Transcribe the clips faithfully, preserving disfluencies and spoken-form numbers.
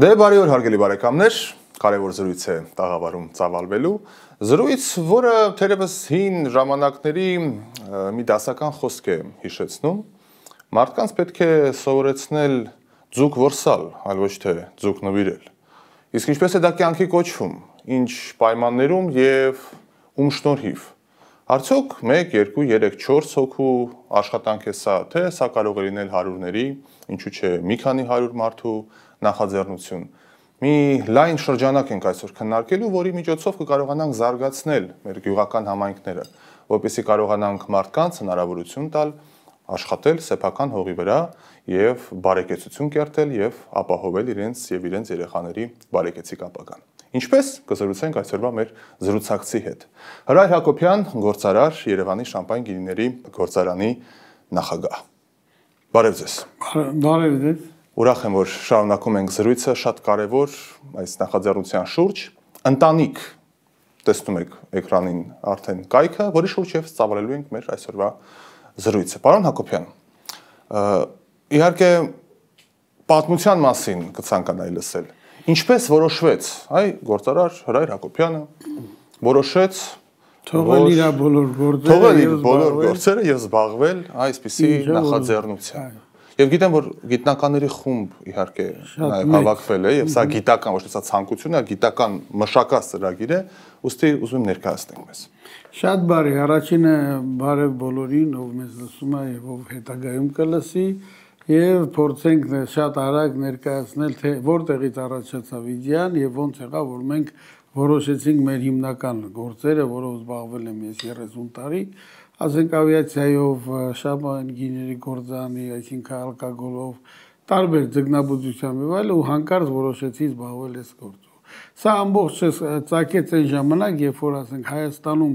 Դե բարի օր հարգելի բարեկամներ, կարևոր զրույց է տաղավարում ծավալվելու, զրույց, որը թերևս հին ժամանակների մի դասական խոսք է հիշեցնում, մարդկանց պետք է սովորեցնել ձուկ որսալ, այլ ոչ թե ձուկ նվիրել, իսկ ինչպես է դա կյանքի կոչվում, ինչ պայմաններում և ում շնորհիվ, արդյոք մեկ, երկու, երեք, չորս հոգու աշխատանք է սա, թե սա կարող է լինել հարյուրների, ինչու չէ մի քանի հարյուր մարդու նախաձեռնություն, մի լայն շրջանակ ենք այսօր քննարկելու, որի միջոցով կկարողանանք զարգացնել մեր գյուղական համայնքները, որպեսզի կարողանանք մարդկանց հնարավորություն տալ աշխատել սեփական հողի վրա և բարեկեցություն կերտել և ապահովել իրենց և իրենց երեխաների բարեկեցիկ ապագան։ Ինչպես կզրուցենք այսօրվա մեր զրուցակցի հետ։ Հրայր Հակոբյան, գործարար, Երևանի շամպայն գինիների գործարանի նախագահ։ Բարև ձեզ։ Բարև ձեզ։ Ուրախ եմ, որ շարունակում ենք զրույցը շատ կարևոր այս նախաձեռնության շուրջ, ընտանիք, տեսնում եք էկրանին արդեն կայքը, որի շուրջ և ծավալելու ենք մեր այսօրվա զրույցը։ Պարոն Հակոբյան, իհարկե պատմության մասին կցանկանայի լսել։ Ինչպես որոշվեց, այ գործարար Հրայր Հակոբյանը որոշեց թողել իր բոլոր գործերը, թողել իր բոլոր գործերը եւ զբաղվել այսպիսի նախաձեռնությամբ։ Եվ գիտեմ, որ գիտնականների խումբ իհարկե նաև հավաքվել է, եւ սա գիտական, ոչ թե սա ցանկություն է, գիտական մշակած ծրագիր է, ուստի ուզում եմ ներկայացնենք մեզ։ Շատ բարի, առաջինը բարև բոլորին, ով մեզ լսում է եւ ով հետագայում կլսի, եւ փորձենք շատ արագ ներկայացնել, թե որտեղից առաջացավ իդեան եւ ոնց եղավ, որ մենք որոշեցինք մեր հիմնական գործերը, որով զբաղվել եմ ես երեսուն տարի, ասենք ավիացիայով, շամպայն գինիների գործարանի, այսինքն ալկոգոլով, տարբեր ձկնաբուծությամբ եւ այլ, ու հանկարծ որոշեցի զբաղվել այս գործով։ Սա ամբողջը ծագեց այն ժամանակ, երբ որ ասենք Հայաստանում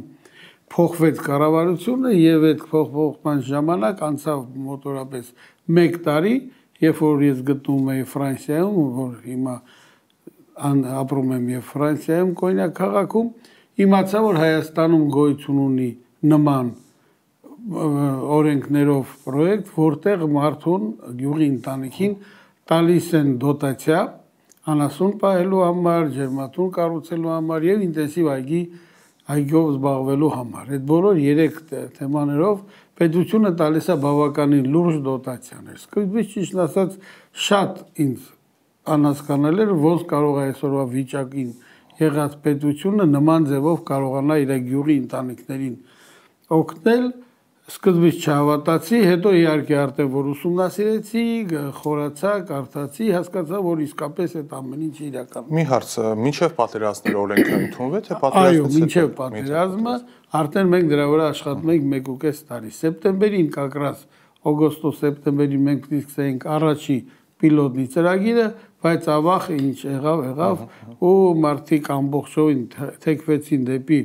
փոխվեց կառավարությունը եւ այդ փոխփոխման ժամանակ անցավ մոտորապես մեկ տարի, երբ որ ես գտնվում էի Ֆրանսիայում, որ հիմա ապրում եմ եւ Ֆրանսիայում Կոնյակ քաղաքում, իմացա, որ Հայաստանում գոյություն ունի նման օրենքներով պրոյեկտ, որտեղ մարդուն գյուղի ընտանիքին տալիս են դոտացիա անասուն պահելու համար, ջերմատուն կառուցելու համար եւ ինտենսիվ այգի այգով զբաղվելու համար։ Այդ բոլոր երեք թեմաներով պետությունը տալիս է բավականին լուրջ դոտացիաներ։ Սկզբից ճիշտ ասած շատ ինձ անհասկանալի էր, ոնց կարող է այսօրվա վիճակին եղած պետությունը նման ձևով կարողանա իր գյուղի ընտանիքներին օգնել։ Սկզբից չհավատացի, հետո իհարկե արդեն որ ուսումնասիրեցի, խորացա, կարդացի, հասկացա, որ իսկապես այդ ամեն ինչը իրական է։ Մի հարց, մինչև պատերազմները օրենքը ընդունվեց, թե պատերազմից Այո, մինչև պատերազմը, արդեն մենք դրա վրա աշխատում ենք մեկ ու կես տարի։ Սեպտեմբերին կակրաս օգոստոս-սեպտեմբերին մենք սկսեցինք առաջի պիլոտնի ծրագիրը, բայց ավաղ ինչ եղավ, եղավ ու մարդիկ ամբողջովին թեքվեցին դեպի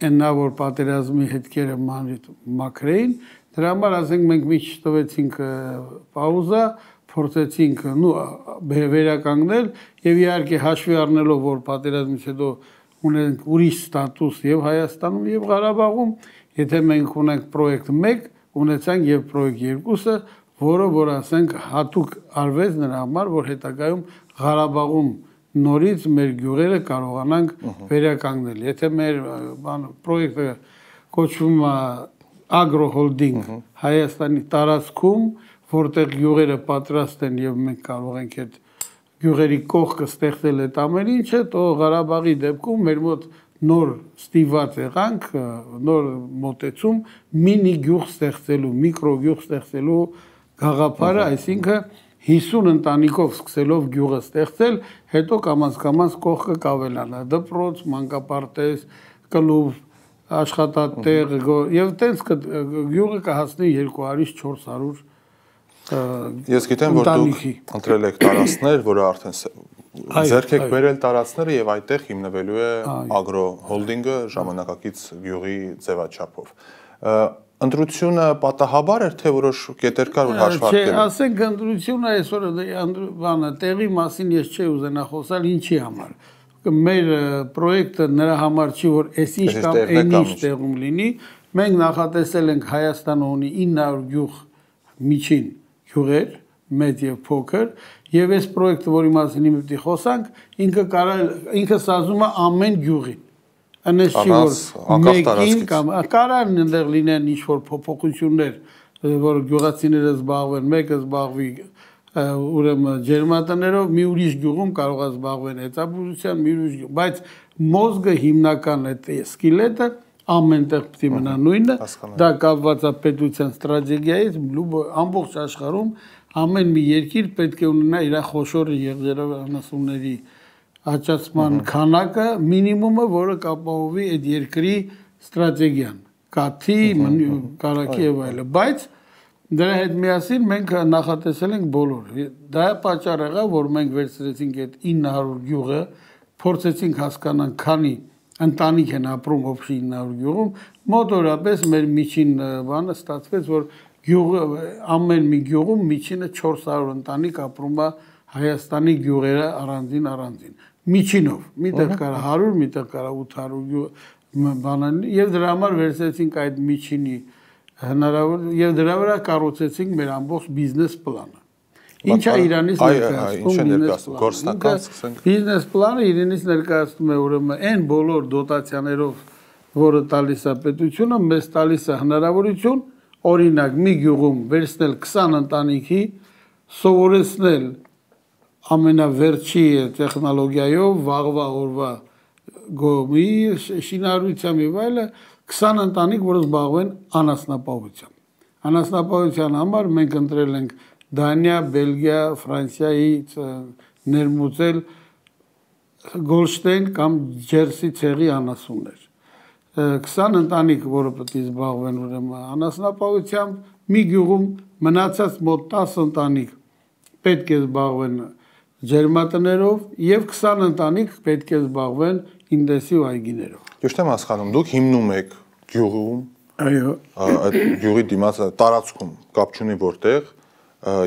նա որ պատերազմի հետքերը մաքրեին, դրա համար ասենք մենք մի չտվեցինք պաուզա, փորձեցինք վերականգնել եւ իհարկե հաշվի առնելով, որ պատերազմից հետո ունենք ուրիշ ստատուս եւ Հայաստանում եւ Ղարաբաղում, եթե մենք ունենք պրոյեկտ մեկ, ունեցանք եւ պրոյեկտ երկուսը, որը որ ասենք հատուկ արվեց նրա համար, որ հետագայում Ղարաբաղում նորից մեր գյուղերը կարողանանք վերականգնել։ Եթե մեր պրոյեկտը կոչվում է ագրոհոլդինգ Հայաստանի տարածքում, որտեղ գյուղերը պատրաստ են եւ մենք կարող ենք այդ գյուղերի կողքը ստեղծել այդ ամեն ինչը, તો Ղարաբաղի դեպքում մեր մոտ նոր ստիված եղանք, նոր մոտեցում մինի գյուղ ստեղծելու, միկրո գյուղ ստեղծելու գաղափարը, այսինքն հիսուն ընտանիքով սկսելով գյուղը ստեղծել, հետո կամաց-կամաց կողքը կավելանա, դպրոց, մանկապարտեզ, կլուբ, աշխատատեղ եւ տենց գյուղը կհասնի երկու հարյուր չորս հարյուր Ես գիտեմ, որ դուք ընտրել եք տարածքներ, որը արդեն ձեռք եք բերել տարածքները եւ այդտեղ հիմնվելու է ագրոհոլդինգը ժամանակակից գյուղի ձևաչափով։ Ընտրությունը պատահաբար էր, թե որոշ կետեր կար, որ հաշվարկել։ Չէ, ասենք ընտրությունը այսօր բանը տեղի մասին ես չէի ուզենա խոսալ, ինչի համար։ Մեր պրոյեկտը նրա համար չի, որ այս ինչ կամ այն ինչ տեղում լինի։ Մենք նախատեսել ենք Հայաստանը ունի ինը հարյուր գյուղ միջին գյուղեր, մեծ եւ փոքր, Եվ այս պրոյեկտը, որի մասին հիմա պիտի խոսանք, ինքը կարա ինքը սազում է ամեն գյուղին։ Անես չի որ մեկին կամ կարան այնտեղ լինեն ինչ-որ փոփոխություններ, որ գյուղացիները զբաղվեն, մեկը զբաղվի ուրեմն ջերմատներով, մի ուրիշ գյուղում կարող է զբաղվեն հեծաբուժության, մի ուրիշ գյուղ, բայց մոզգը հիմնական այդ սկիլետը ամենտեղ պիտի մնա նույնը, դա կապված է պետության ստրատեգիայից, ամբողջ աշխարհում ամեն մի երկիր պետք է ունենա իր խոշոր եղջերուհիների աճացման քանակը, մինիմումը, որը կապահովի այդ երկրի ստրատեգիան, կաթի, կարագի եւ այլն, բայց դրա հետ միասին մենք նախատեսել ենք բոլոր։ Դա է պատճառը, որ մենք վերցրեցինք այդ ինը հարյուր գյուղը, փորձեցինք հասկանալ քանի ընտանիք են ապրում օբշի ինը հարյուր գյուղում, մոտորապես մեր միջին բանը ստացվեց, որ գյուղը ամեն մի գյուղում միջինը չորս հարյուր ընտանիք ապրում է Հայաստանի գյուղերը առանձին առանձին։ Միջինով, միտեղ կարա հարյուր, միտեղ կարա ութ հարյուր բանան, եւ դրա համար վերցրեցինք այդ միջինի հնարավոր եւ դրա վրա կառուցեցինք մեր ամբողջ բիզնես պլանը։ Ինչ է Իրանից ներկայացնում։ Բիզնես պլանը Իրանից ներկայացնում է ուրեմն այն բոլոր դոտացիաներով, որը տալիս է պետությունը, մեզ տալիս է հնարավորություն, օրինակ մի գյուղում վերցնել քսան ընտանիքի, սովորեցնել ամենավերջի տեխնոլոգիայով, վաղվա օրվա գոմի, շինարարությամբ եւ այլն քսան ընտանիք, որ զբաղվեն անասնապահությամբ։ Անասնապահության համար մենք ընտրել ենք Դանիա, Բելգիա, Ֆրանսիայից ներմուծել Գոլշտեյն կամ Ջերսի ցեղի անասուններ։ քսան ընտանիք, որը պետք է զբաղվեն ուրեմն անասնապահությամբ, մի գյուղում մնացած մոտ տասը ընտանիք պետք է զբաղվեն ջերմատներով եւ քսան ընտանիք պետք է զբաղվեն ինտենսիվ այգիներով։ Ճիշտ եմ հասկանում, դուք հիմնում եք գյուղում, այո, այդ գյուղի դիմաց տարածքում կապ չունի որտեղ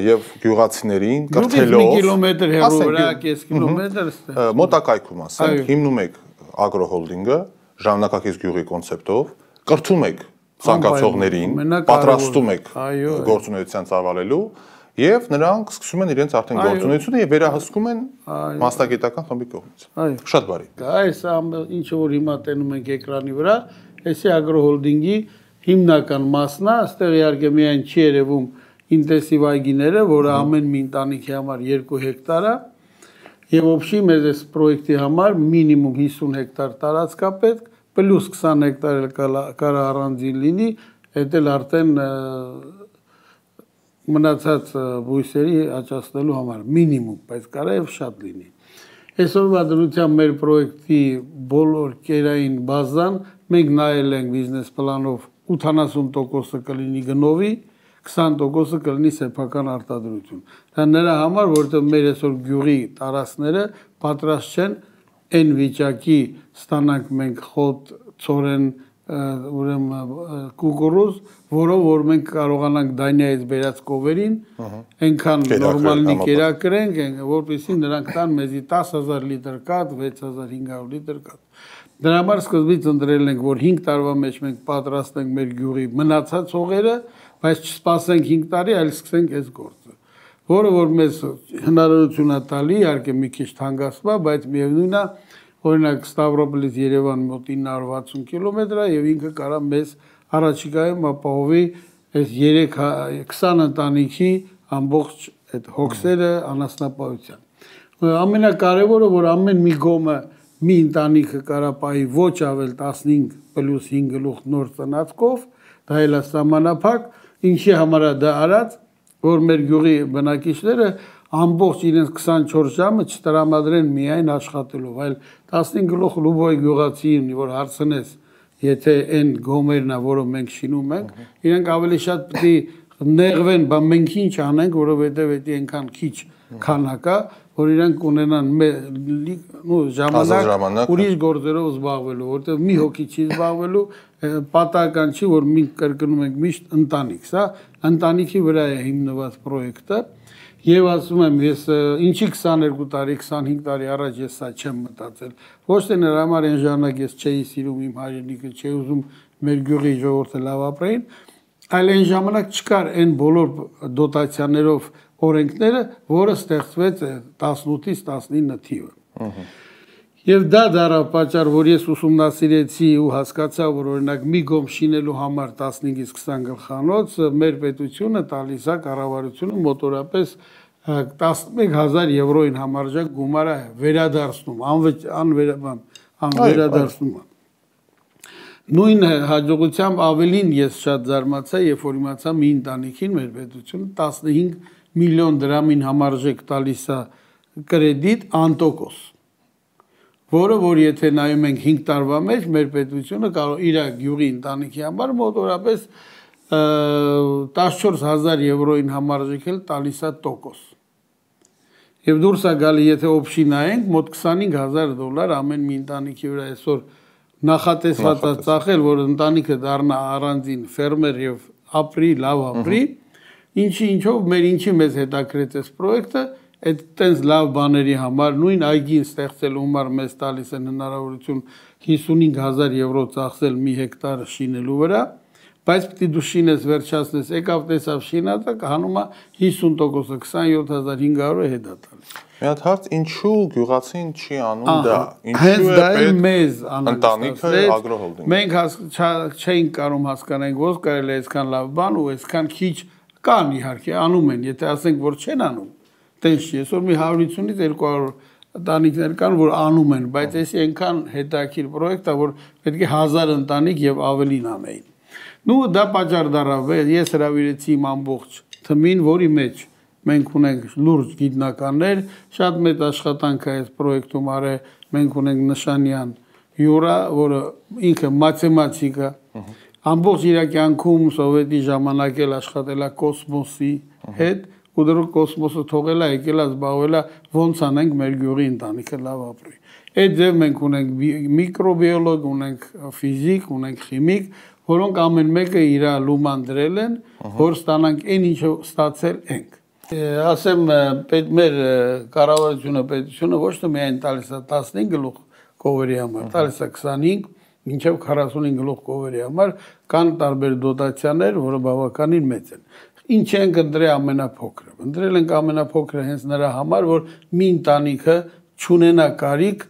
եւ գյուղացիներին կրթելով մի կիլոմետր հեռու վրա, կես կիլոմետր մոտակայքում ասենք, հիմնում եք ագրոհոլդինգը ժամանակակից գյուղի կոնցեպտով, կրթում եք ցանկացողներին, պատրաստում եք գործունեության ծավալելու եւ նրանք սկսում են իրենց արդեն գործունեությունը եւ վերահսկում են մասնագիտական խմբի կողմից։ Շատ բարի։ Այս ինչը որ հիմա տենում ենք էկրանի վրա, էսի ագրոհոլդինգի հիմնական մասն է, այստեղ իհարկե միայն չի երևում ինտենսիվ այգիները, որը ամեն մի ընտանիքի համար երկու հեկտար է, եւ օբշի մեզ այս պրոյեկտի համար մինիմում հիսուն հեկտար տարածք է պետք, պլյուս քսան հեկտար կարա առանձին լինի, դա էլ արդեն մնացած բույսերի աճացնելու համար մինիմում, բայց կարա եւ շատ լինի։ Այսօրվա դրությամբ մեր պրոյեկտի բոլոր կերային բազան մենք նայել ենք բիզնես պլանով ութանասուն տոկոսը կլինի գնովի, քսան տոկոսը կլինի սեփական արտադրություն։ Դա նրա համար, որովհետեւ մեր այսօր գյուղի տարածքները պատրաստ չեն այն վիճակի ստանանք մենք խոտ, ցորեն, ուրեմն կուկուրուզ, որով որ մենք կարողանանք Դանիայից բերած կովերին, այնքան նորմալնի կերակրենք, որպեսզի նրանք տան մեզի տասը հազար լիտր կաթ, վեց հազար հինգ հարյուր լիտր կաթ։ Դրա համար սկզբից ընտրել ենք, որ հինգ տարվա մեջ մենք պատրաստենք մեր գյուղի մնացած հողերը, բայց չսպասենք հինգ տարի, այլ սկսենք այս գործը, որը որ մեզ հնարավորություն է տալի, իհարկե մի քիչ թանկացਵਾ, բայց միևնույնն է, օրինակ Ստավրոպոլից Երևան մոտ ինը հարյուր վաթսուն կիլոմետր է եւ ինքը կարա մեզ առաջիկայում ապահովի այս քսան ընտանիքի ամբողջ այդ հոգսերը անասնապահության։ Ամենակարևորը, որ ամեն մի գոմը մի ընտանիքը կարա պահի ոչ ավել տասնհինգ պլյուս հինգ գլուխ նոր ծնածքով, դա էլ է սահմանափակ, ինչի համար է դա արած, որ մեր գյուղի բնակիչները ամբողջ իրենց քսանչորս ժամը չտրամադրեն միայն աշխատելով, այլ տասնհինգ գլուխ լուբոյ գյուղացին, որ հարցնես, եթե այն գոմերն է, որը մենք շինում ենք, իրենք ավելի շատ պետք է նեղվեն, բա մենք ինչ անենք, որովհետև դա այնքան քիչ քանակ է, որ իրենք ունենան ժամանակ ուրիշ գործերով զբաղվելու, որովհետև մի հոգի չի զբաղվելու, պատահական չի, որ մենք կրկնում ենք միշտ ընտանիք, սա ընտանիքի վրա է հիմնված պրոյեկտը, եւ ասում եմ, ես ինչի քսաներկու տարի, քսանհինգ տարի առաջ ես սա չեմ մտածել, ոչ թե նրա համար այն ժամանակ ես չէի սիրում իմ հայրենիքը, չէի ուզում մեր գյուղի ժողովուրդը լավ ապրեին, այլ այն ժամանակ չկար այն բոլոր դոտացիաներով օրենքները, որը ստեղծվեց տասնութից տասնինը թիվը։ Եվ դա դարավ պատճառ, որ ես ուսումնասիրեցի ու հասկացա, որ օրինակ մի գոմ շինելու համար տասնհինգից քսան գլխանոց մեր պետությունը տալիս է կառավարությունը մոտորապես տասնմեկ հազար եվրոին համարժեք գումար է վերադարձնում, անվերաբան, անվերադարձնում։ Նույն հաջողությամբ ավելին ես շատ զարմացա, երբ որ իմացա մի ընտանիքին մեր պետությունը տասնհինգ միլիոն դրամին համարժեք տալիս է կրեդիտ անտոկոս, որը որ եթե նայում ենք հինգ տարվա մեջ մեր պետությունը կարող իր գյուղի ընտանիքի համար մոտորապես տասնչորս հազար եվրոին համարժեք էլ տալիս է տոկոս։ Եվ դուրս է գալի, եթե օբշի նայենք, մոտ քսանհինգ հազար դոլար ամեն մի ընտանիքի վրա այսօր նախատեսված է ծախել, որ ընտանիքը դառնա առանձին ֆերմեր եւ ապրի, լավ ապրի, ինչի ինչով մեր ինչի մեզ հետաքրեց այս պրոյեկտը, այդ տենց լավ բաների համար նույն այգին ստեղծելու համար մեզ տալիս են հնարավորություն հիսունհինգ հազար եվրո ծախսել մի հեկտար շինելու վրա, բայց պիտի դու շինես վերջացնես, եկավ տեսավ շինածը, հանում է հիսուն տոկոսը քսանյոթ հազար հինգ հարյուրը հետ է տալիս։ Մի հատ հարց, ինչու գյուղացին չի անում դա։ Ինչու է պետք մեզ ընտանիքը ագրոհոլդինգ։ Մենք չէինք կարող հասկանալ, ոնց կարելի է այսքան լավ բան ու այսքան քիչ կան իհարկե անում են, եթե ասենք որ չեն անում, տենց չի, այսօր մի հարյուր հիսունից երկու հարյուր ընտանիքներ կան, որ անում են, բայց էսի այնքան հետաքրքիր պրոյեկտ է, որ պետք է հազար ընտանիք եւ ավելին անեին։ Նու դա պատճառ դարավ, ես հրավիրեցի իմ ամբողջ թմին, որի մեջ մենք ունենք լուրջ գիտնականներ, շատ մեծ աշխատանք է այս պրոյեկտում արել, մենք ունենք Նշանյան Յուրա, որը ինքը մաթեմատիկ է, ամբողջ իր կյանքում սովետի ժամանակ էլ աշխատել է կոսմոսի հետ, ու դեռ կոսմոսը թողել է, եկել է զբաղվել է ոնց անենք մեր գյուղի ընտանիքը լավ ապրի։ Այդ ձև մենք ունենք միկրոբիոլոգ, ունենք ֆիզիկ, ունենք խիմիկ, որոնք ամեն մեկը իր լուման դրել են, որ ստանանք այն ինչը ստացել ենք։ Ասեմ, մեր կառավարությունը, պետությունը ոչ թե միայն տալիս է տասնհինգ գլուխ կովերի համար, տալիս է քսանհինգ, մինչև քառասունհինգ գլուխ կովերի համար, կան տարբեր դոտացիաներ, որը բավականին մեծ են։ Ինչ ենք ընտրել ամենափոքրը։ Ընտրել ենք ամենափոքրը հենց նրա համար, որ մի ընտանիքը չունենա կարիք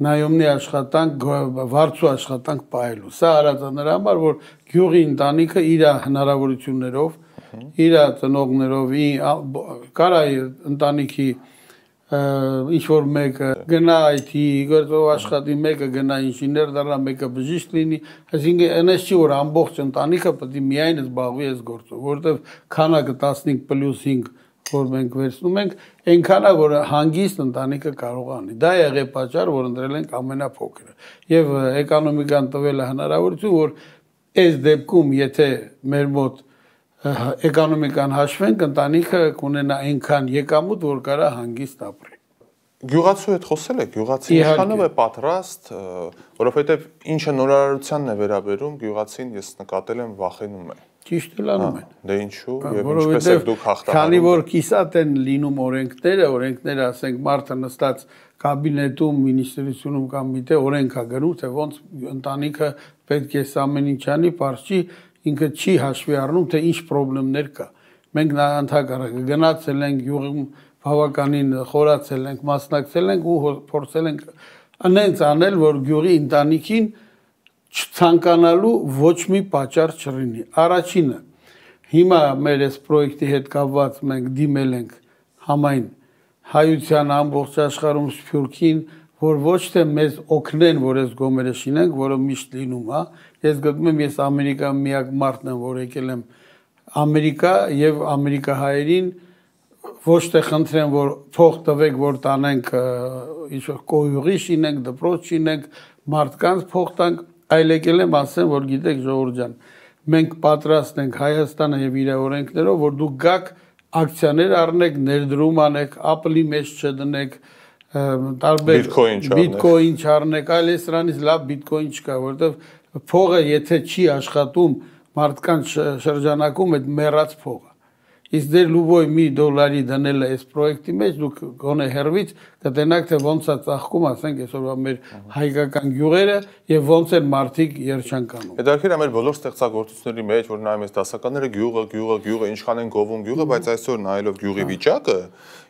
նայումնի աշխատանք, վարձու աշխատանք պահելու։ Սա արած է նրա համար, որ գյուղի ընտանիքը իր հնարավորություններով, իր ծնողներով, կարա ընտանիքի ինչ-որ մեկը գնա այ թի գործով աշխատի, մեկը գնա ինժեներ դառնա, մեկը բժիշկ լինի, այսինքն այնպես չի, որ ամբողջ ընտանիքը պետք է միայն զբաղվի այս գործով, որովհետև քանակը տասնհինգ պլյուս հինգ որ մենք վերցնում ենք, այնքան է, որ հանգիստ ընտանիքը կարող անի։ Դա եղե պատճառ, որ ընտրել ենք ամենափոքրը։ Եվ էկոնոմիկան տվել է հնարավորություն, որ այս դեպքում, եթե մեր մոտ էկոնոմիկան հաշվենք, ընտանիքը կունենա այնքան եկամուտ, որ կարա հանգիստ ապրի։ Գյուղացու հետ խոսել եք, գյուղացին ինչքանով է պատրաստ, որովհետև ինչը նորարարությանն է վերաբերում, գյուղացին ես նկատել եմ վախենում է։ Ճիշտ էլ անում են։ Դե ինչու եւ ինչպես եք դուք հաղթահարում։ Քանի որ կիսատ են լինում օրենքները, օրենքները ասենք մարդը նստած կաբինետում, մինիստրությունում կամ միտե օրենք է գրում, թե ոնց ընտանիքը պետք է ամեն ինչ անի, բարձ չի, ինքը չի հաշվի առնում, թե ինչ խնդիրներ կա։ Մենք ընդհանրապես գնացել ենք յուղում, բավականին խորացել ենք, մասնակցել ենք ու փորձել ենք անենց անել, որ գյուղի ընտանիքին չցանկանալու ոչ մի պատճառ չլինի։ Առաջինը, հիմա մեր այս պրոյեկտի հետ կապված մենք դիմել ենք համայն հայության ամբողջ աշխարհում Սփյուռքին, որ ոչ թե մեզ օգնեն, որ այս գոմերը շինենք, որը միշտ լինում է։ Ես գտնում եմ, ես Ամերիկա միակ մարդն եմ, որ եկել եմ Ամերիկա եւ ամերիկահայերին ոչ թե խնդրեմ, որ փող տվեք, որ տանենք ինչ-որ կոյուղի շինենք, դպրոց շինենք, մարդկանց փող տանք, այլ եկել եմ ասեմ, որ գիտեք ժողովուրդ ջան, մենք պատրաստ ենք Հայաստանը եւ իր օրենքներով, որ դուք գաք ակցիաներ առնեք, ներդրում անեք, Apple-ի մեջ չդնեք, տարբեր բիտկոին չառնեք, այլ է սրանից լավ բիտկոին չկա, որովհետեւ փողը եթե չի աշխատում մարդկանց շրջանակում, այդ մեռած փող է։ Իսկ դեր լուբոյ մի դոլարի դնել է այս պրոյեկտի մեջ, դուք գոնե հերվից կտենաք, թե ոնց է ծաղկում, ասենք այսօրվա մեր հայկական գյուղերը եւ ոնց են մարդիկ երջանկանում։ Հետաքրքիր է մեր բոլոր ստեղծագործությունների մեջ, որ նայում ես դասականները գյուղը, գյուղը, գյուղը, ինչքան են գովում գյուղը, բայց այսօր նայելով գյուղի վիճակը,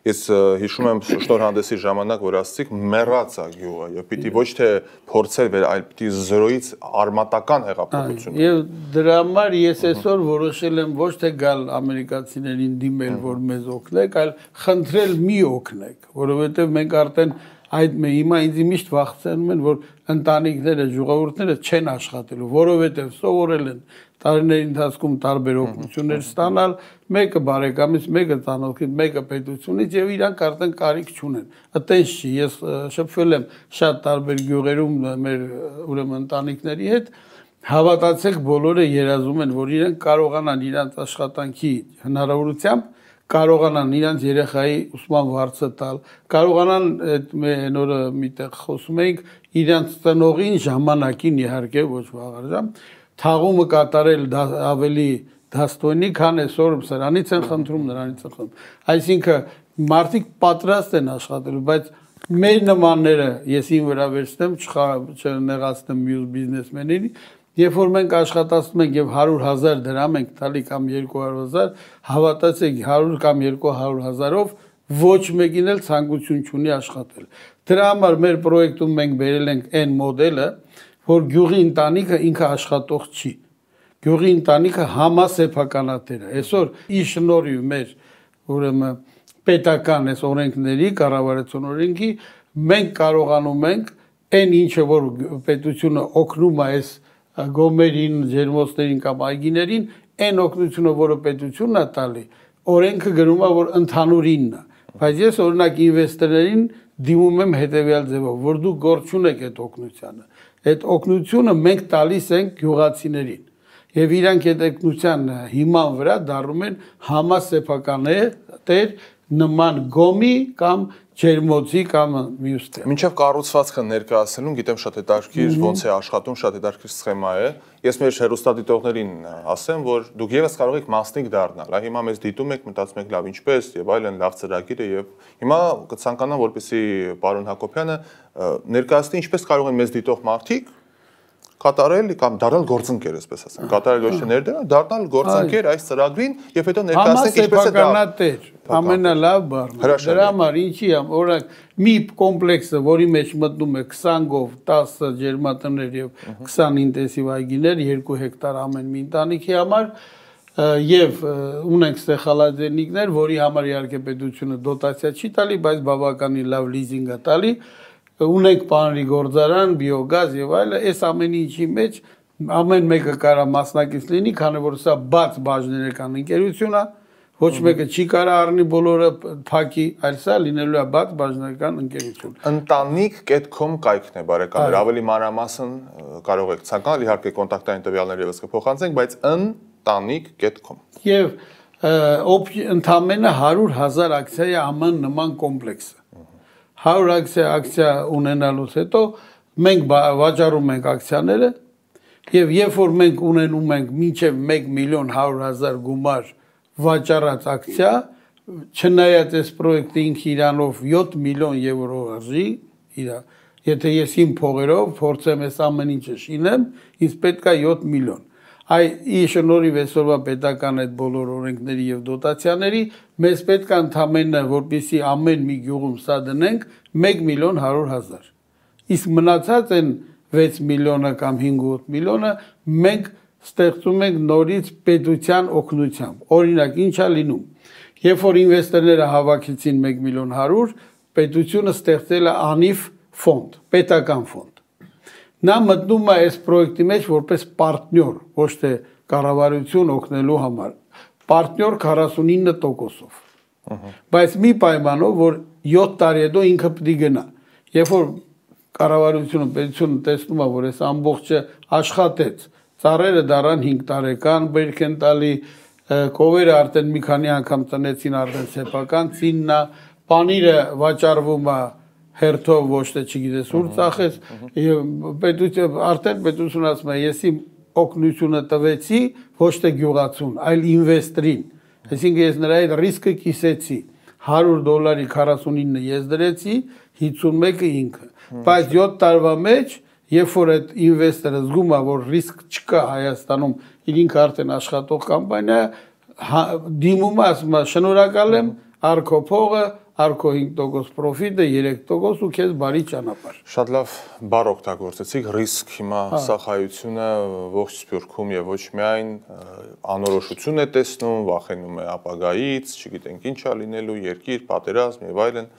ես հիշում եմ շնորհանդեսի ժամանակ, որ ասացիք մեռած է գյուղը, եւ պիտի ոչ թե փորձել վեր, այլ պիտի զրոյից արմատական հեղափոխություն։ Եվ դրա համար ես այսօր որոշել եմ ոչ թե գալ ամերիկացիներին դիմել, որ մեզ օգնեք, այլ խնդրել մի օգնեք, որովհետեւ մենք արդեն այդ հիմա ինձ միշտ վախեցնում են, որ ընտանիքները, ժողովուրդները չեն աշխատելու, որովհետեւ սովորել են տարիների ընթացքում տարբեր օգնություններ ստանալ, մեկը բարեկամից, մեկը ծանոթից, մեկը պետությունից եւ իրանք արդեն կարիք չունեն։ Այտենց չի, ես շփվել եմ շատ տարբեր գյուղերում մեր ուրեմն ընտանիքների հետ, հավատացեք բոլորը երազում են, որ իրենք կարողանան իրանք աշխատանքի հնարավորությամբ կարողանան իրանք երեխայի ուսման վարձը տալ, կարողանան այդ մեր օրը միտեղ խոսում էինք իրանք ծնողին ժամանակին իհարկե ոչ վաղարժամ թաղումը կատարել ավելի դաստոյնի, քան այսօր սրանից են խնդրում, նրանից են խնդրում։ Այսինքն մարդիկ պատրաստ են աշխատելու, բայց մեր նմանները ես ին վրա վերցնեմ, չնեղացնեմ մյուս բիզնեսմեններին, երբ որ մենք աշխատացնում ենք եւ հարյուր հազար դրամ ենք տալի կամ երկու հարյուր հազար, հավատացեք հարյուր կամ երկու հարյուր հազարով ոչ մեկին էլ ցանկություն չունի աշխատել։ Դրա համար մեր պրոյեկտում մենք բերել ենք այն մոդելը, որ գյուղի ընտանիքը ինքը աշխատող չի։ Գյուղի ընտանիքը համասեփականատեր է։ Այսօր ի շնորհիվ մեր ուրեմն պետական այս օրենքների, կառավարության օրենքի, մենք կարողանում ենք այն ինչը որ պետությունը օգնում է այս գոմերին, ջերմոցներին կամ այգիներին, այն օգնությունը, որը պետությունն է տալի, օրենքը գրում է, որ ընդհանուրինն է։ Բայց ես օրինակ ինվեստորներին դիմում եմ հետևյալ ձևով, որ դուք գործ չունեք այդ օգնությանը։ Այդ օգնությունը մենք տալիս ենք գյուղացիներին։ Եվ իրանք այդ օգնության հիման վրա դառնում են համասեփականատեր նման գոմի կամ ջերմոցի կամ մյուս տեղ։ Մինչև կառուցվածքը ներկայացնելուն գիտեմ շատ հետաքրքիր ոնց է աշխատում, շատ հետաքրքիր սխեմա է։ Ես մեր հեռուստադիտողներին ասեմ, որ դուք եւս կարող եք մասնիկ դառնալ։ Այ հիմա մեզ դիտում եք, մտածում եք լավ ինչպես եւ այլն, լավ ծրագիր է եւ հիմա կցանկանամ, որպեսզի պարոն Հակոբյանը ներկայացնի ինչպես կարող են մեզ դիտող մարդիկ կատարել կամ դառնալ գործընկեր, այսպես ասեմ։ Կատարել ոչ թե ներդրել, դառնալ գործընկեր այս ծրագրին եւ հետո ներկայացնել ինչպես է դա։ Համասեփականատեր, ամենալավ բառն։ Դրա համար ինչի եմ, օրինակ մի կոմպլեքսը, որի մեջ մտնում է քսան գով, տասը ջերմատներ եւ քսան ինտենսիվ այգիներ, երկու հեկտար ամեն մի ընտանիքի համար եւ ունենք ստեխալաձենիկներ, որի համար իհարկե պետությունը դոտացիա չի տալի, բայց բավականին լավ լիզինգ է տալի։ Ունենք պանրի գործարան, բիոգազ եւ այլը, այս ամեն ինչի մեջ ամեն մեկը կարա մասնակից լինի, քանի որ սա բաց բաժներական ընկերություն է, ոչ մեկը չի կարա առնի բոլորը փակի, այլ սա լինելու է բաց բաժներական ընկերություն։ ընտանիք կետ կոմ կայքն է, բարեկամներ, ավելի մանրամասն կարող եք ցանկանալ, իհարկե կոնտակտային տվյալները եւս կփոխանցենք, բայց ընտանիք կետ կոմ։ Եվ ընդամենը հարյուր հազար ակցիայի աման նման կոմպլեքսը։ հարյուր ակցիա ակցիա ունենալուց հետո մենք վաճառում ենք ակցիաները եւ երբ որ մենք ունենում ենք մինչեւ մեկ միլիոն հարյուր հազար գումար վաճառած ակցիա, չնայած այս պրոյեկտը ինքը իրանով յոթ միլիոն եվրո արժի, իրա, եթե ես իմ փողերով փորձեմ այս ամեն ինչը շինեմ, ինձ պետք է յոթ միլիոն։ Այ ի շնորհիվ այսօրվա պետական այդ բոլոր օրենքների եւ դոտացիաների մեզ պետք է ընդամենը որպեսզի ամեն մի գյուղում սա դնենք մեկ միլիոն հարյուր հազար։ Իսկ մնացած են վեց միլիոնը կամ հինգ-ութ միլիոնը մենք ստեղծում ենք նորից պետության օգնությամբ։ Օրինակ ինչ է լինում։ Երբ որ ինվեստորները հավաքեցին մեկ միլիոն հարյուր, պետությունը ստեղծել է անիվ ֆոնդ, պետական ֆոնդ։ Նա մտնում է այս պրոյեկտի մեջ որպես պարտնյոր, ոչ թե կառավարություն օգնելու համար։ Պարտնյոր քառասունինը տոկոսով։ Բայց մի պայմանով, որ յոթ տարի հետո ինքը պետք է գնա։ Երբ որ կառավարությունը, պետությունը տեսնում է, որ այս ամբողջը աշխատեց, ծառերը դառան հինգ տարեկան, բերք են տալի, կովերը արդեն մի քանի անգամ տնեցին արդեն սեփական ծիննա, պանիրը վաճառվում է հերթով ոչ թե չգիտես ուր ծախես եւ պետություն արդեն պետությունը ասում է ես իմ օգնությունը տվեցի ոչ թե գյուղացուն այլ ինվեստորին Այսինքն ես նրա այդ ռիսկը կիսեցի, հարյուր դոլարի քառասունինը ես դրեցի, հիսունմեկը ինքը, բայց յոթ տարվա մեջ, երբ որ այդ ինվեստորը զգում է, որ ռիսկ չկա Հայաստանում, իր ինքը արդեն աշխատող կամպանիա, դիմում է, ասում է, շնորհակալ եմ, արքո փողը, արքո հինգ տոկոս պրոֆիտը, երեք տոկոս ու քեզ բարի ճանապարհ։ Շատ լավ բառ օգտագործեցիք, ռիսկ հիմա սախայությունը ողջ Սփյուռքում եւ ոչ միայն անորոշություն է տեսնում, վախենում է ապագայից, չգիտենք ինչ է լինելու, երկիր, պատերազմ եւ այլն։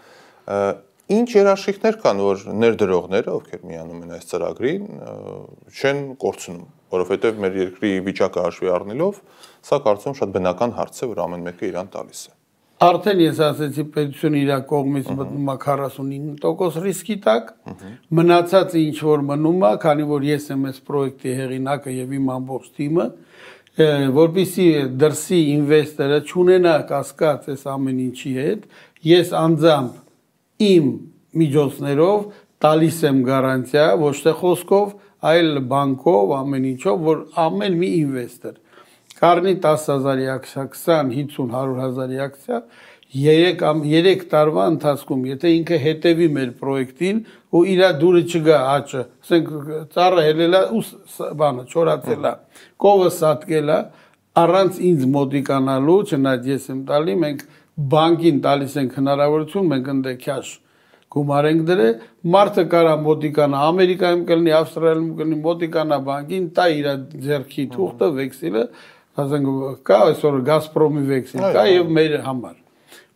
Ինչ երաշխիքներ կան, որ ներդրողները, ովքեր միանում են այս ծրագրին, չեն կորցնում, որովհետեւ մեր երկրի վիճակը հաշվի առնելով, սա կարծում շատ բնական հարց է, որ ամեն մեկը իրան տալիս է։ Արդեն ես ասեցի, պետությունը իր կողմից մտնում է քառասունինը տոկոս ռիսկի տակ, մնացածը ինչ որ մնում է, քանի որ ես եմ այս պրոյեկտի հեղինակը եւ իմ ամբողջ թիմը, որպեսզի դրսի ինվեստորը չունենա կասկած այս ամեն ինչի հետ, ես անձամբ իմ միջոցներով տալիս եմ գարանտիա, ոչ թե խոսքով, այլ բանկով, ամեն ինչով, որ ամեն մի ինվեստոր կառնի տասը հազարի ակցիա, քսան, հինգ, հարյուր հազարի ակցիա, երեք տարվա ընթացքում, եթե ինքը հետևի մեր պրոյեկտին ու իր դուրը չգա աճը, ասենք ծառը հելելա ու բանը չորացելա, կովը սատկելա, առանց ինձ մոտիկանալու, չնայած ես եմ տալի, մենք բանկին տալիս ենք հնարավորություն, մենք ընդ քաշ գումար ենք դրել, մարդը կարա մոտիկանա, Ամերիկայում կլինի, Ավստրալիայում կլինի, մոտիկանա բանկին, տա իր ձեռքի թուղթը, վեքսիլը, ասենք կա այսօր Գազպրոմի վեքսիլ, կա եւ մեր համար։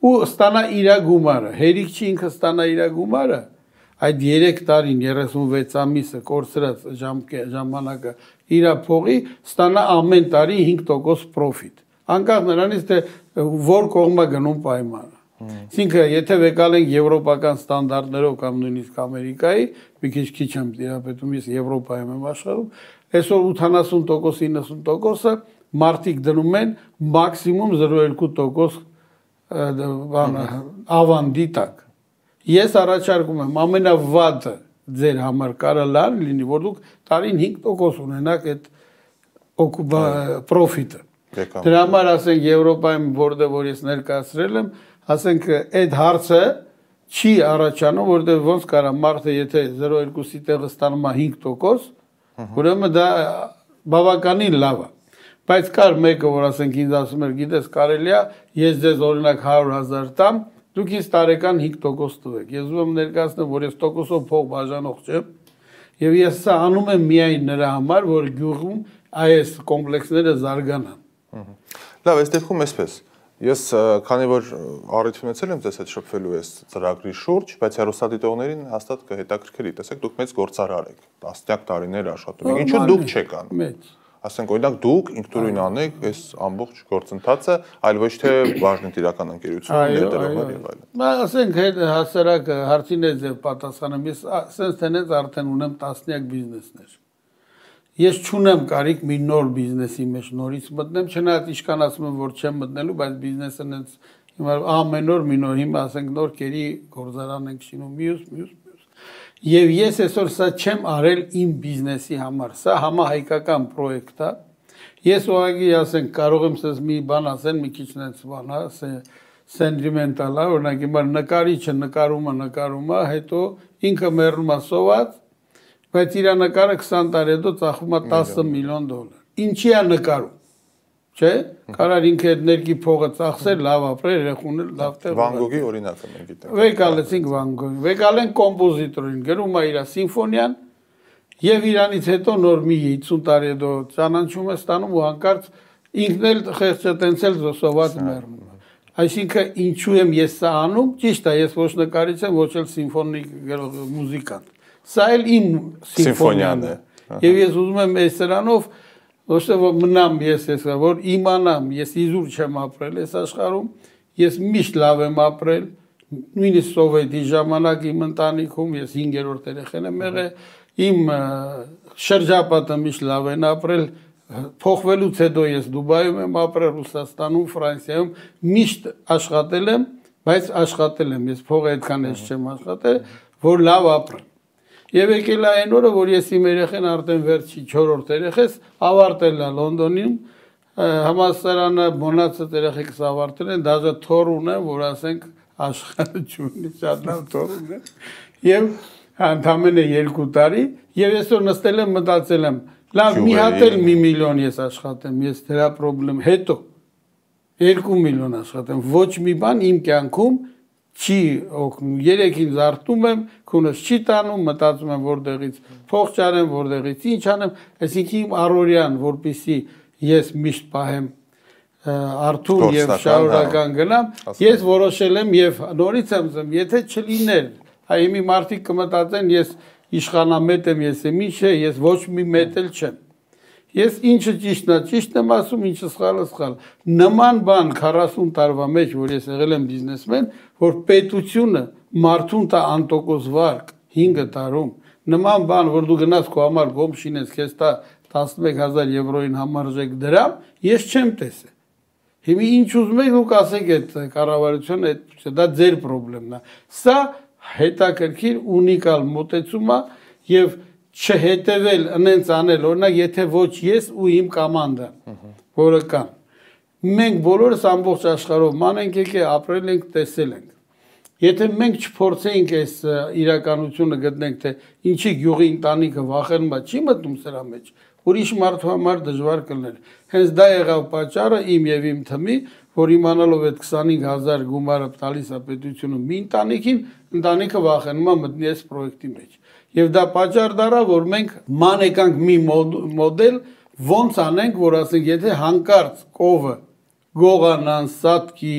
Ու ստանա իր գումարը, հերիք չի ինքը ստանա իր գումարը, այդ երեք տարին երեսունվեց ամիսը կորցրած ժամանակը իր փողի ստանա ամեն տարի հինգ տոկոս պրոֆիտ։ Անկախ նրանից թե որ կողմը գնում պայմանը։ Այսինքն եթե վեկալ ենք եվրոպական ստանդարտներով կամ նույնիսկ Ամերիկայի, մի քիչ քիչ եմ դիապետում, ես Եվրոպայում եմ աշխատում, այսօր ութանասուն տոկոս իննսուն տոկոսը մարդիկ դնում են մաքսիմում զրո փոխ երկու տոկոս ավանդի տակ։ Ես առաջարկում եմ ամենավատը ձեր համար կարա լավ լինի, որ դուք տարին հինգ տոկոս ունենաք այդ պրոֆիտը։ Դրա համար ասենք Եվրոպայում որտեղ որ ես ներկայացրել եմ, ասենք այդ հարցը չի առաջանում, որտեղ ոնց կարա մարդը եթե զրո փոխ երկու-ի տեղը ստանում է հինգ տոկոս, ուրեմն դա բավականին լավ է։ Բայց կար մեկը, որ ասենք ինձ ասում էր, գիտես, կարելի է, ես ձեզ օրինակ հարյուր հազար տամ, դուք ինձ տարեկան հինգ տոկոս տվեք։ Ես ուզում եմ ներկայացնել, որ ես տոկոսով փող բաժանող չեմ, եւ ես սա անում եմ միայն նրա համար, որ գյուղում այս կոմպլեքսները զարգանան։ Լավ, այս դեպքում էսպես։ Ես քանի որ առիթ ունեցել եմ ձեզ հետ շփվելու այս ծրագրի շուրջ, բայց հեռուստադիտողներին հաստատ կհետաքրքրի, տեսեք, դուք մեծ գործարար եք, տասնյակ տարիներ աշխատում եք, ինչու դուք չեք անում։ Մեծ Ասենք օրինակ դուք ինքնուրույն անեք այս ամբողջ գործընթացը, այլ ոչ թե բաժնետիրական ընկերություն, ներդրողներ եւ այլն։ Բա ասենք հասարակ հարցին է ձեր պատասխանը, ես ասենց տենից արդեն ունեմ տասնյակ բիզնեսներ։ Ես չունեմ կարիք մի նոր բիզնեսի մեջ նորից մտնեմ, չնայած իշքան ասում եմ, որ չեմ մտնելու, բայց բիզնեսը նենց հիմա ամեն օր մի նոր, հիմա ասենք նոր կերի գործարան ենք շինում, մյուս, մյուս Եվ ես այսօր սա չեմ արել իմ բիզնեսի համար, սա համահայկական պրոյեկտ է։ Ես ուղղակի ասենք կարող եմ սենց մի բան ասեն, մի քիչ նենց բան է, սենտիմենտալ է, օրինակ հիմա նկարիչը նկարումը նկարում է, հետո ինքը մեռնում է սոված, բայց իր նկարը քսան տարի հետո ծախվում է տասը միլիոն դոլար։ Ինչի է նկարում։ Չէ՞, կարար ինքը այդ ներքի փողը ծախսել, լավ ապրել, երեխուներ լավ տեղ։ Վան Գոգի օրինակը մենք գիտենք։ Վեկալեցինք Վան Գոգի, վեկալեն կոմպոզիտորին, գրում է իր սիմֆոնիան, եւ իրանից հետո նոր մի հիսուն տարի հետո ճանաչում է ստանում ու հանկարծ ինքն էլ խեղճը տենցել զոսոված մեռնում է։ Այսինքն ինչու եմ ես սա անում, ճիշտ է, ես ոչ նկարիչ եմ, ոչ էլ սիմֆոնիկ մուզիկանտ։ Սա էլ իմ սիմֆոնիան է։ Եվ ես ուզում եմ այս սրանով ոչ թե որ մնամ ես ես որ իմանամ ես իզուր չեմ ապրել այս աշխարհում ես միշտ լավ եմ ապրել նույնիսկ սովետի ժամանակ իմ ընտանիքում ես հինգերորդ երեխան եմ եղել իմ շրջապատը միշտ լավ են ապրել փոխվելուց հետո ես Դուբայում եմ ապրել Ռուսաստանում Ֆրանսիայում միշտ աշխատել եմ բայց աշխատել եմ ես փողը այդքան ես չեմ աշխատել որ լավ ապրեմ Եվ եկել է այն օրը, որ ես իմ երեխեն արդեն վերջի չորրորդ երեխես ավարտել է Լոնդոնում, համալսարանը մոնացած երեխեքս ավարտել են, դաժե թոր ունեն, որ ասենք աշխարհը չունի, շատ լավ թոր ունեն։ Եվ ընդամենը երկու տարի, եւ այսօր նստել եմ մտածել եմ, լավ, մի հատ էլ մի միլիոն ես աշխատեմ, ես դրա խնդրեմ, հետո երկու միլիոն աշխատեմ, ոչ մի բան իմ կյանքում չի օգնում, երեքին զարթնում եմ, քունս չի տանում, մտածում եմ որտեղից փող չարեմ, որտեղից ինչ անեմ, այսինքն իմ առօրյան, որպեսզի ես միշտ պահեմ արթուն եւ շարունակական գնամ, ես որոշել եմ եւ նորից եմ ասում, եթե չլիներ, այ մի մարդիկ կմտածեն, ես իշխանամետ եմ, ես եմ ինչ է, ես ոչ մի մետ էլ չեմ։ Ես ինչը ճիշտն է, ճիշտ եմ ասում, ինչը սխալը սխալ։ Նման բան քառասուն տարվա մեջ, որ ես եղել եմ բիզնեսմեն, որ պետությունը մարդուն տա անտոկոս վարկ հինգ տարում, նման բան, որ դու գնաս քո համար գոմ շինես, քեզ տա տասնմեկ հազար եվրոյին համարժեք դրամ, ես չեմ տեսել։ Հիմա ինչ ուզում եք դուք ասեք այդ կառավարությունը, դա ձեր խնդիրն է։ Սա հետաքրքիր ունիկալ մոտեցում է եւ չհետևել, ընենց անել, օրինակ, եթե ոչ ես ու իմ կոմանդան, որը կան։ Մենք բոլորս ամբողջ աշխարհով մանենք եկե ապրել ենք, տեսել ենք։ Եթե մենք չփորձեինք այս իրականությունը գտնենք, թե ինչի գյուղի ընտանիքը վախենում է, չի մտնում սրա մեջ, ուրիշ մարդու համար դժվար կլներ։ Հենց դա եղավ պատճառը իմ եւ իմ թմի, որ իմանալով այդ քսանհինգ հազար գումարը տալիս է պետությունը մի ընտանիքին, ընտանիքը վախենում է մտնի այս պրոյեկտի մեջ։ Եվ դա պատճառ դառավ, որ մենք ման եկանք մի մոդել, ոնց անենք, որ ասենք, եթե հանկարծ կովը գողանան, սատկի,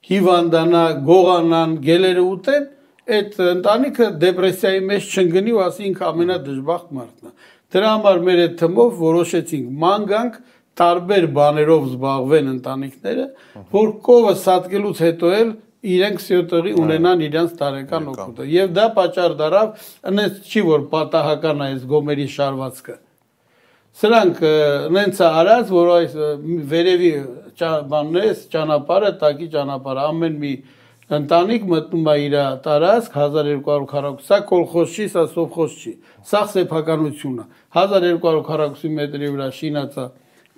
հիվանդանա, գողանան, գելերը ուտեն, այդ ընտանիքը դեպրեսիայի մեջ չընկնի ու ասի ինքը ամենադժբախտ մարդն է։ Դրա համար մեր այդ թմով որոշեցինք ման գանք տարբեր բաներով զբաղվեն ընտանիքները, որ կովը սատկելուց հետո էլ իրենք սյոտողի ունենան իրենց տարեկան օգուտը։ Եվ դա պատճառ դառավ, ընենց չի որ պատահական է այս գոմերի շարվածքը։ Սրանք նենց է արած, որ այս վերևի բանն է, ճանապարհը, տակի ճանապարհը, ամեն մի ընտանիք մտնում է իր տարածք հազար երկու հարյուր քառակուսի, սա կոլխոզ չի, սա սովխոզ չի, սա սեփականություն է։ հազար երկու հարյուր քառակուսի մետրի վրա շինած է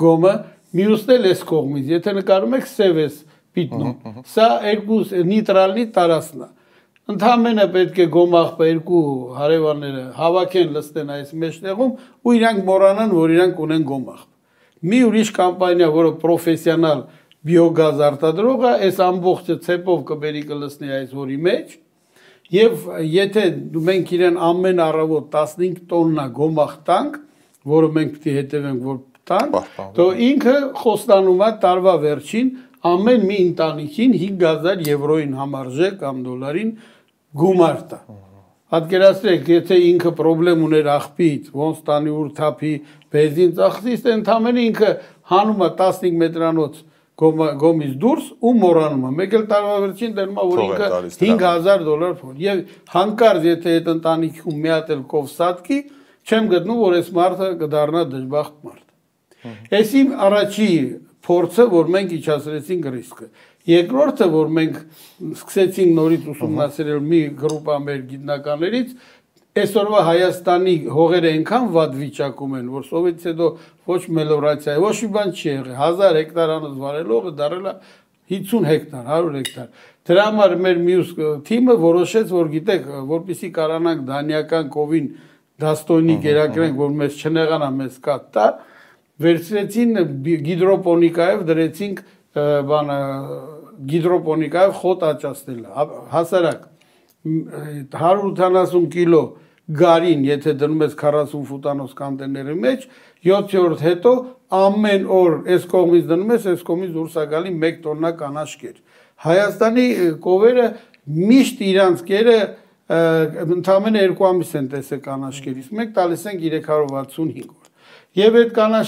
գոմը, մյուսն էլ էս կողմից, եթե նկարում եք սև էս պիտնում, սա երկու նիտրալնի տարածքն է։ Ընդհանրապես պետք է գոմաղբը երկու հարևանները հավաքեն լստեն այս մեջտեղում ու իրանք մոռանան, որ իրանք ունեն գոմաղբ։ Մի ուրիշ կամպանիա, որը պրոֆեսիոնալ բիոգազ արտադրող է, այս ամբողջը ցեպով կբերի կլցնի այս հորի մեջ, եւ եթե մենք իրեն ամեն առավոտ տասնհինգ տոննա գոմաղ տանք, որը մենք պետք է հետևենք, որ տանք, то ինքը խոստանում է տարվա վերջին ամեն մի ընտանիքին հինգ հազար եվրոյին համարժեք կամ դոլարին գումար տա։ Պատկերացրեք, եթե ինքը խնդրեմ ուներ աղբից, ոնց տանի ուր թափի, բենզին ծախսից, ընդամենը ինքը հանում է տասնհինգ մետրանոց գոմից դուրս ու մոռանում է։ Մեկ էլ տարվա վերջին դերում է, որ ինքը հինգ հազար դոլար փող։ Եվ հանկարծ եթե այդ ընտանիքում մի հատ էլ կով սատկի, չեմ գտնում, որ այս մարդը կդառնա դժբախտ մարդ։ Այս իմ առաջի փորձը, որ մենք իջացրեցինք ռիսկը։ Երկրորդը, որ մենք սկսեցինք նորից ուսումնասիրել մի գրուպա մեր գիտնականներից, այսօրվա Հայաստանի հողերը այնքան վատ վիճակում են, որ սովետից հետո ոչ մելորացիա, ոչ մի բան չի եղել, հազար հեկտար անց վարելողը դարել է հինգսուն հեկտար, հարյուր հեկտար։ Դրա համար մեր մյուս թիմը որոշեց, որ գիտեք, որպեսզի կարողանանք դանիական կովին դաստոյնի գերակրենք, որ մեզ չնեղանա, մեզ կատ տա, վերցրեցին գիդրոպոնիկայով դրեցինք բանը գիդրոպոնիկայով խոտ աճացնել, հասարակ հարյուր ութանասուն կիլո գարին, եթե դնում ես քառասուն ֆուտանոց կոնտեյների մեջ, յոթերորդ հետո ամեն օր այս կողմից դնում ես, այս կողմից դուրս է գալի մեկ տոննա կանաչ կեր։ Հայաստանի կովերը միշտ իրանց կերը ընդամենը երկու ամիս են տեսել կանաչ կերից, մենք տալիս ենք երեք հարյուր վաթսունհինգ օր։ Եվ այդ կանաչ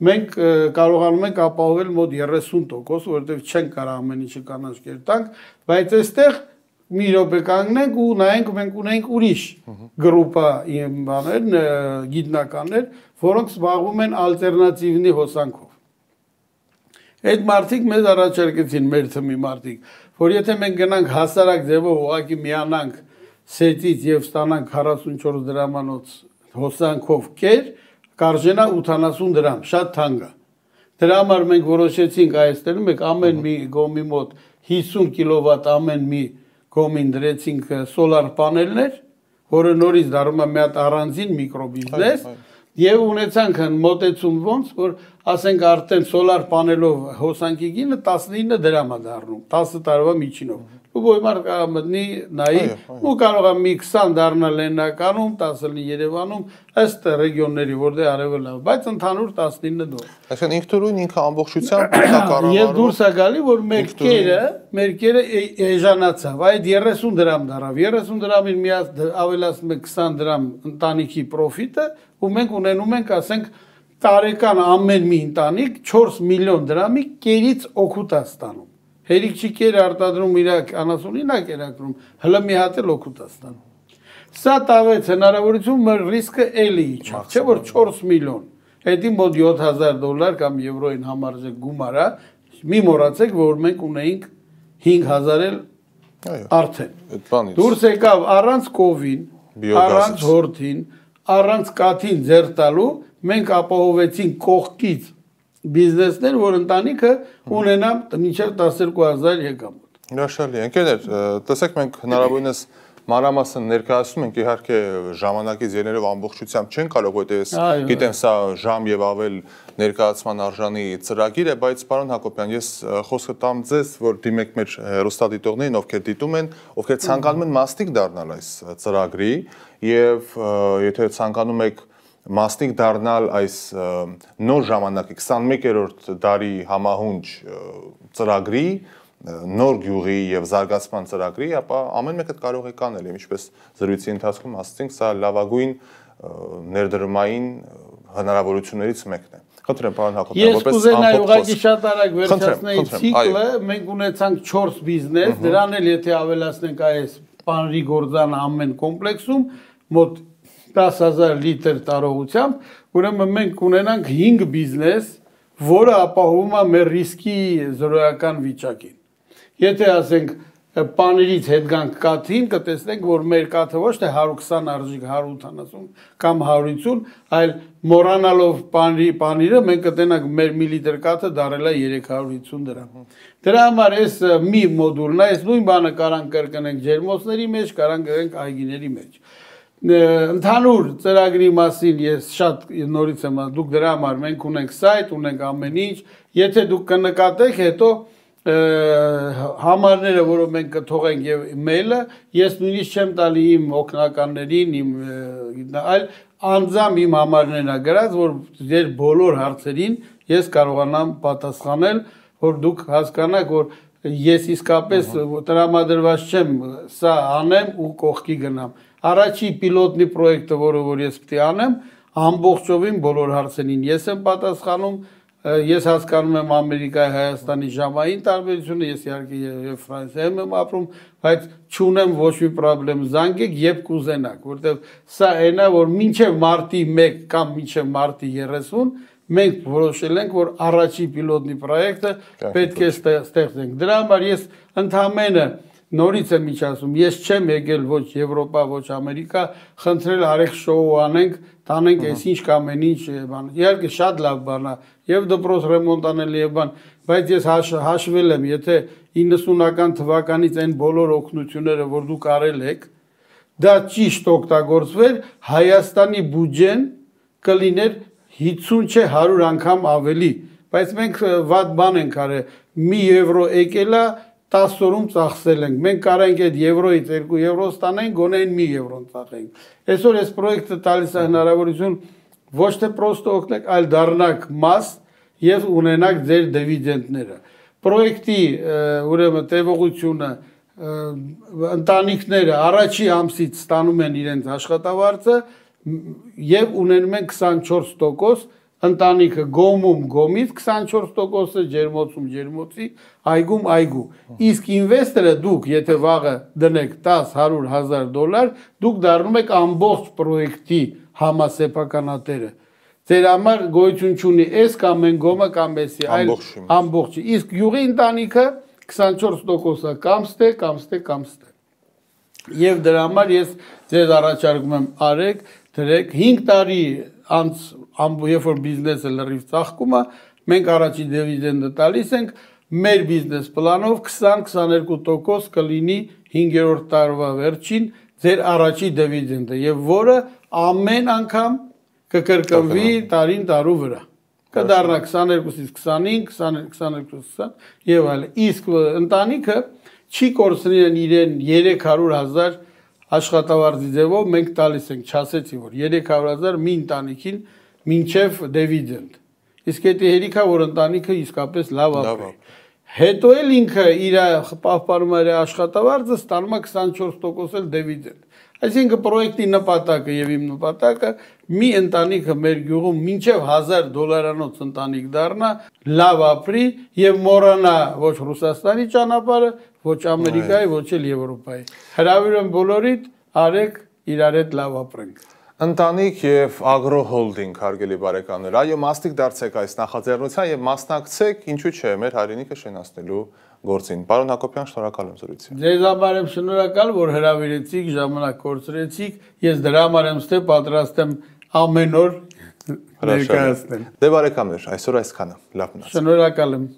մենք կարողանում ենք ապահովել մոտ երեսուն տոկոս, որովհետև չենք կարող ամեն ինչը կանաչ կեր տանք, բայց այստեղ մի րոպե կանգնենք ու նայենք, մենք ունենք ուրիշ գրուպա բաներ, գիտնականներ, որոնք զբաղվում են ալտերնատիվնի հոսանքով։ Այդ մարդիկ մեզ առաջարկեցին, մեր թմի մարդիկ, որ եթե մենք գնանք հասարակ ձևով ուղղակի միանանք սետից եւ ստանանք քառասունչորս դրամանոց հոսանքով կեր, կարժենա ութանասուն դրամ, շատ թանկ է։ Դրա համար մենք որոշեցինք այստեղում եք ամեն մի գոմի մոտ հիսուն կիլովատ ամեն մի գոմին դրեցինք սոլար պանելներ, որը նորից դառնում է մի հատ առանձին միկրոբիզնես, եւ ունեցանք մոտեցում ոնց, որ ասենք արդեն սոլար պանելով հոսանքի գինը տասնինը դրամ է դառնում, տասը տարվա միջինով։ Ու ոյմար կարող մտնի նայի, ու կարող է մի քսան դառնալ Լեննականում, տասը լինի Երևանում, ըստ ռեգիոնների, որտեղ արևելն է, բայց ընդհանուր տասնինը դոլար։ Այսինքն ինքնուրույն ինքը ամբողջությամբ կառավարում։ Եվ դուրս է գալի, որ մեր կերը, մեր կերը էժանացավ, այդ երեսուն դրամ դառավ, երեսուն դրամին մի հատ ավելացնում է քսան դրամ ընտանիքի պրոֆիտը, ու մենք ունենում ենք, ասենք, տարեկան ամեն մի ընտանիք չորս միլիոն դրամի կերից օգուտ է ստանում։ Հերիք չի կեր արտադրում իր անասունին է կերակրում, հլը մի հատ էլ օգուտ է ստանում։ Սա տավեց հնարավորություն մեր ռիսկը էլի իջավ, չէ որ չորս միլիոն, հետի մոտ յոթ հազար դոլար կամ եվրոյին համարժեք գումար է, մի մոռացեք, որ մենք ունեինք հինգ հազար էլ արդեն։ Դուրս եկավ առանց կովին, առանց հորթին, առանց կաթին ձեռ տալու, մենք ապահովեցինք կողքից բիզնեսներ, որ ընտանիքը ունենա մինչև տասներկու հազար եկամուտ։ Հրաշալի, ընկերներ, տեսեք մենք հնարավորինս մանրամասն ներկայացնում ենք, իհարկե ժամանակից ելնելով ամբողջությամբ չեն կարող, որտեղ գիտեմ սա ժամ եւ ավել ներկայացման արժանի ծրագիր է, բայց պարոն Հակոբյան, ես խոսքը տամ ձեզ, որ դիմեք մեր հեռուստադիտողներին, ովքեր դիտում են, ովքեր ցանկանում են մասնիկ դառնալ այս ծրագրի եւ եթե ցանկանում եք մասնիկ դառնալ այս նոր ժամանակի քսանմեկերորդ դարի համահունչ ծրագրի, նոր գյուղի եւ զարգացման ծրագրի, ապա ամեն մեկը կարող է կանել, ինչպես զրույցի ընթացքում ասացինք, սա լավագույն ներդրումային հնարավորություններից մեկն է։ Խնդրեմ, պարոն Հակոբյան, որպես ամփոփ ուղղակի շատ արագ վերջացնեի ցիկլը, մենք ունեցանք չորս բիզնես, դրան էլ եթե ավելացնենք այս պանրի գործան ամեն կոմպլեքսում, մոտ տասը հազար լիտր տարողությամբ, ուրեմն մենք ունենանք հինգ բիզնես, որը ապահովում է մեր ռիսկի զրոյական վիճակին։ Եթե ասենք պաներից հետ գանք կաթին, կտեսնենք, որ մեր կաթը ոչ թե հարյուր քսան արժիկ հարյուր ութանասուն կամ հարյուր հինգ, այլ մոռանալով պանիրը մենք կտենանք մեր մի լիտր կաթը դարել է երեք հարյուր հինգ դրամ։ Դրա համար այս մի մոդուլն է, այս նույն բանը կարանք կրկնենք ջերմոցների մեջ, կարանք կրկնենք այգիների մեջ։ Ընդհանուր ծրագրի մասին ես շատ նորից եմ ասում, դուք դրա համար մենք ունենք սայթ, ունենք ամեն ինչ, եթե դուք կնկատեք, հետո համարները, որով մենք կթողենք եւ մեյլը, ես նույնիսկ չեմ տալի իմ օգնականներին, իմ այլ անձամբ իմ համարներն ա գրած, որ ձեր բոլոր հարցերին ես կարողանամ պատասխանել, որ դուք հասկանաք, որ ես իսկապես տրամադրված չեմ սա անեմ ու կողքի գնամ։ Առաջի պիլոտնի պրոյեկտը, որը որ ես պետք է անեմ, ամբողջովին բոլոր հարցերին ես եմ պատասխանում, ես հասկանում եմ Ամերիկայի, Հայաստանի ժամային տարբերությունը, ես իհարկե եւ Ֆրանսիայում եմ ապրում, բայց չունեմ ոչ մի խնդրեմ, զանգեք երբ կուզենաք, որտեղ սա այնա, որ մինչև մարտի մեկ կամ մինչև մարտի երեսուն մենք որոշել ենք, որ առաջի պիլոտնի պրոյեկտը պետք է ստեղծենք։ Դրա համար ես ընդհանրապես նորից եմ ինչ ասում, ես չեմ եկել ոչ Եվրոպա, ոչ Ամերիկա, խնդրել արեք շոու անենք, տանենք այսինչ կամ այնինչ բան։ Իհարկե շատ լավ բան է, եւ դպրոց ռեմոնտ անել եւ բան, բայց ես հաշվել եմ, եթե իննսունական թվականից այն բոլոր օգնությունները, որ դուք արել եք, դա ճիշտ օգտագործվեր, Հայաստանի բյուջեն կլիներ հինգսուն չէ հարյուր անգամ ավելի, բայց մենք վատ բան ենք արել, մի եվրո եկել է տասը օրում ծախսել ենք, մենք կարանք այդ եվրոից երկու եվրո ստանենք, գոնե մի եվրոն ծախենք։ Այսօր այս պրոյեկտը տալիս է հնարավորություն ոչ թե պրոստը օգնեք, այլ դառնաք մաս եւ ունենաք ձեր դիվիդենդները։ Պրոյեկտի ուրեմն տևողությունը ընտանիքները առաջի ամսից ստանում են իրենց աշխատավարձը եւ ունենում են քսանչորս տոկոս ընտանիքը գոմում գոմից քսանչորս տոկոսը ջերմոցում ջերմոցի այգում այգու իսկ ինվեստորը դուք եթե վաղը դնեք տասը հարյուր հազար դոլար դուք դառնում եք ամբողջ պրոյեկտի համասեփականատերը ձեր համար գոյություն չունի այս կամ այն գոմը կամ էսի այլ ամբողջը իսկ յուղի ընտանիքը քսանչորս տոկոսը կամ ստե կամ ստե կամ ստե եւ դրա համար ես ձեզ առաջարկում եմ արեք դրեք հինգ տարի անց երբ որ բիզնեսը լրիվ ծաղկում է Մենք առաջի դիվիդենդը տալիս ենք, մեր բիզնես պլանով քսան քսաներկու տոկոս կլինի հինգերորդ տարվա վերջին ձեր առաջի դիվիդենդը եւ որը ամեն անգամ կկրկնվի տարին տարու վրա։ Կդառնա քսաներկուից քսանհինգ, քսաներկուից քսան եւ այլն։ Իսկ ընտանիքը չի կորցնեն իրեն երեք հարյուր հազար աշխատավարձի ձևով մենք տալիս ենք, չասեցի որ երեք հարյուր հազար մի ընտանիքին մինչև դիվիդենդ։ Իսկ դա հերիքա որ ընտանիքը իսկապես լավ ապրի։ Հետո էլ ինքը իր պահպանում իր աշխատավարձը ստանում է քսանչորս տոկոս էլ դիվիդենդ։ Այսինքն պրոյեկտի նպատակը եւ իմ նպատակը մի ընտանիքը մեր գյուղում մինչև հազար դոլարանոց ընտանիք դառնա, լավ ապրի եւ մոռանա ոչ Ռուսաստանի ճանապարհը, ոչ Ամերիկայի, ոչ էլ Եվրոպայի։ Հրավիրում բոլորիդ, արեք իրար հետ լավ ապրենք։ Ընտանիք եւ ագրո հոլդինգ, հարգելի բարեկամներ, այո, մասնիկ դարձեք այս նախաձեռնության եւ մասնակցեք, ինչու՞ չէ, մեր հայրենիքը շենացնելու գործին։ Պարոն Հակոբյան, շնորհակալ եմ զրույցին։ Ձեզ համար եմ շնորհակալ, որ հրավիրեցիք, ժամանակ կորցրեցիք, ես դրա համար եմ ստե պատրաստ եմ ամեն օր ներկայացնել։ Դե բարեկամներ, այսօր այսքանը, լավ մնացեք։ Շնորհակալ եմ։